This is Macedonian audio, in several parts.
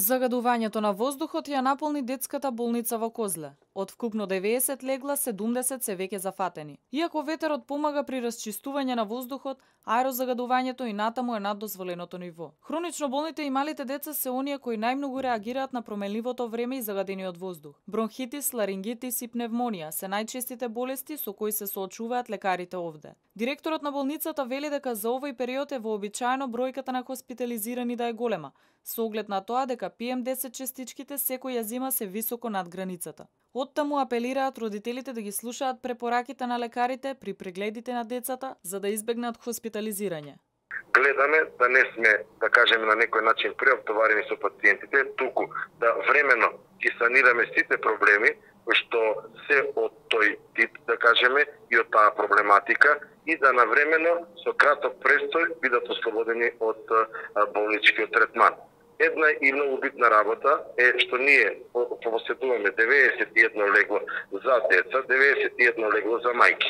Загадувањето на воздухот ја наполни детската болница во Козле. Од вкупно 90 легла, 70 се веќе зафатени. Иако ветерот помага при расчистување на воздухот, аерозагадувањето и натаму е над дозволеното ниво. Хронично болните и малите деца се оние кои најмногу реагираат на променливото време и загадениот воздух. Бронхитис, ларингитис и пневмонија се најчестите болести со кои се соочуваат лекарите овде. Директорот на болницата вели дека за овој период е вообичаено бројката на хоспитализирани да е голема, со оглед на тоа дека PM10 частичките секој ја зима се високо над границата. Оттаму апелираат родителите да ги слушаат препораките на лекарите при прегледите на децата за да избегнат хоспитализирање. Гледаме да не сме, да кажеме, на некој начин преоптоварени со пациентите, туку да времено ги санираме сите проблеми кои што се од тој тип, да кажеме, и од таа проблематика и да навремено со краток престој бидат ослободени од болничкиот третман. Една и многу битна работа е што ние поседуваме 91 легло за деца, 91 легло за мајки.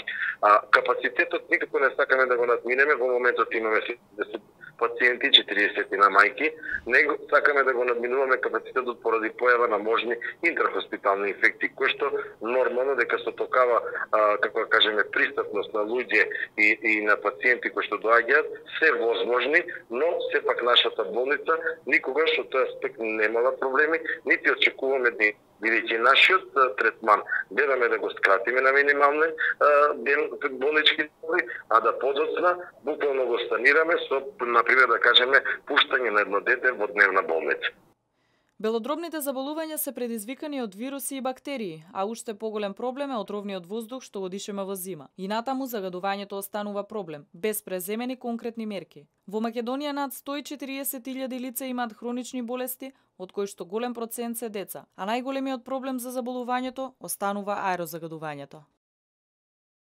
Капацитетот никако не сакаме да го надминеме, во моментот имаме 70 пациенти, 40 на мајки, него сакаме да го надминуваме капацитетот поради појава на можни интерхоспитални инфекции, кои што нормално дека со такава, како да кажеме, пристапност на луѓе и на пациенти кои што доаѓаат, се возможни, но сепак нашата болница никогаш од тој аспект немала проблеми, нити очекуваме да бидејќи нашиот третман гледаме да го скратиме на минимални болнички доби, а да подоцна буквално го санираме со, например, да кажеме, пуштање на едно дете во дневна болница. Белодробните заболувања се предизвикани од вируси и бактерии, а уште поголем проблем е отровниот воздух што го дишеме во зима. И натаму загадувањето останува проблем, без преземени конкретни мерки. Во Македонија над 140.000 лица имаат хронични болести, од кои што голем процент се деца, а најголемиот проблем за заболувањето останува аерозагадувањето.